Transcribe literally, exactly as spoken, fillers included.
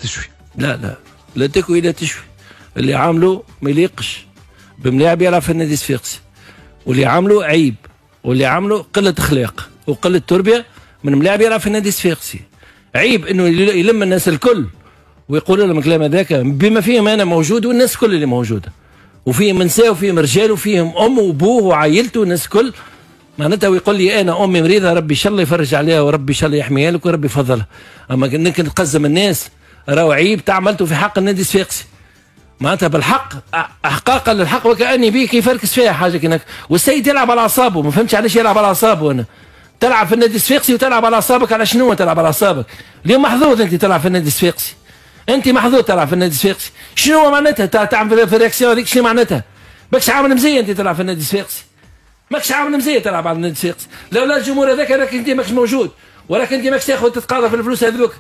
تشوي. لا لا لا تكوي لا تشوي، اللي عامله ما يليقش بملاعب يلعب في النادي الصفاقسي، واللي عامله عيب، واللي عامله قلة اخلاق وقلة تربيه من ملاعب يلعب في النادي الصفاقسي. عيب انه يلم الناس الكل ويقول لهم الكلام هذاك بما فيهم انا موجود والناس الكل اللي موجودة، وفيهم نساء وفيهم رجال وفيهم امه وابوه وعائلته والناس الكل معناتها، ويقول لي انا امي مريضه ربي ان شاء الله يفرج عليها وربي ان شاء الله يحميها لك وربي يفضلها. اما انك تقزم الناس راهو عيب تعملته في حق النادي الصفاقسي معناتها بالحق، احقاقا للحق، وكاني بيه يفركس فيها حاجة كنك. والسيد يلعب على اعصابه، ما فهمتش علاش يلعب على اعصابه. انا تلعب في النادي الصفاقسي وتلعب على اعصابك، على شنو تلعب على اعصابك؟ اليوم محظوظ انت تلعب في النادي الصفاقسي، انت محظوظ تلعب في النادي الصفاقسي. شنو معناتها تعمل في ال réaction هذيك؟ شنو معناتها؟ ماكش عامل مزية انت تلعب في النادي الصفاقسي، ماكش عامل مزية تلعب على النادي الصفاقسي. لولا الجمهور هذاك راك انت ماكش موجود، ولكن انت ماكش تاخذ تتقاضى في الفلوس هذوك.